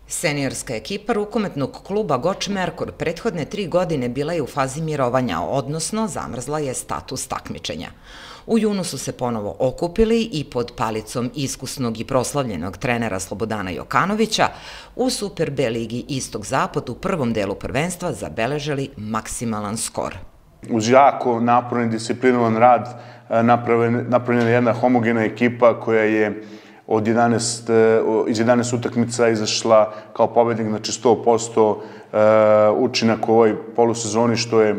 Seniorska ekipa rukometnog kluba Goč Merkur prethodne 3 godine bila je u fazi mirovanja, odnosno zamrzla je status takmičenja. U junu su se ponovo okupili i pod palicom iskusnog i proslavljenog trenera Slobodana Jokanovića u Super B ligi Istok-Zapad u prvom delu prvenstva zabeležili maksimalan skor. Uz jako naporan i disciplinovan rad napravljena je jedna homogena ekipa koja je iz 11 utakmica izašla kao pobednik, znači 100% učinak u ovoj polusezoni, što je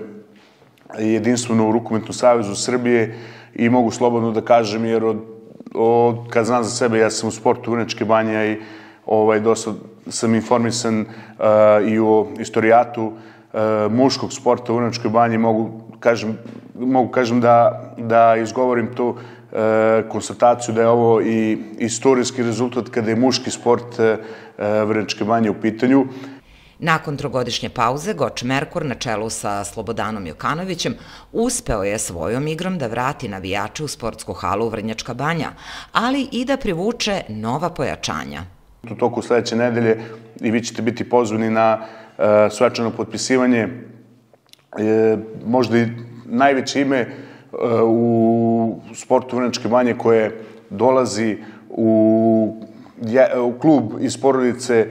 jedinstveno u Rukometnom savezu Srbije i mogu slobodno da kažem, jer kad znam za sebe, ja sam u sportu Vrnjačke Banje i dosta sam informisan i o istorijatu muškog sporta u Vrnjačkoj Banji, mogu kažem da izgovorim tu konstataciju da je ovo i istorijski rezultat kada je muški sport Vrnjačke Banje u pitanju. Nakon trogodišnje pauze, Goč Merkur na čelu sa Slobodanom Jokanovićem uspeo je svojom igrom da vrati navijače u sportsku halu Vrnjačka Banja, ali i da privuče nova pojačanja. U toku sledeće nedelje i vi ćete biti pozvani na svečano potpisivanje, možda i najveće ime u sportu Vrnjačke Banje koje dolazi u klub iz porodice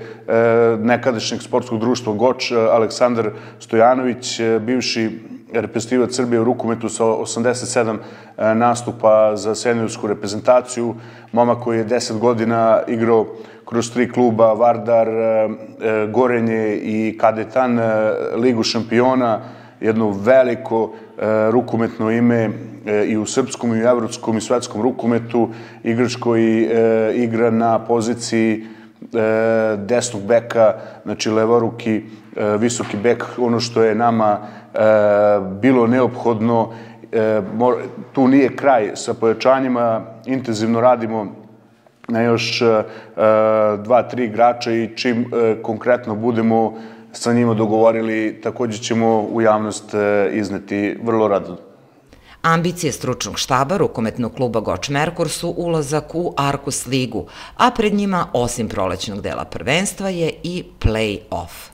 nekadašnjeg sportskog društva Goč, Aleksandar Stojanović, bivši reprezentativac Srbije u rukometu sa 87 nastupa za seniorsku reprezentaciju, momak koji je 10 godina igrao kroz 3 kluba, Vardar, Gorenje i Kadetan, Ligu šampiona, jedno veliko rukometno ime i u srpskom, i u evropskom, i svetskom rukometu, igrač koji igra na poziciji desnog beka, znači levoruki, visoki bek, ono što je nama bilo neophodno. Tu nije kraj sa pojačanjima, intenzivno radimo na još 2-3 igrača i čim konkretno budemo sa njima dogovorili, također ćemo u javnost izneti vrlo rado. Ambicije stručnog štaba rukometnog kluba Goč Merkur su ulazak u Arkus ligu, a pred njima, osim prolećnog dela prvenstva, je i play-off.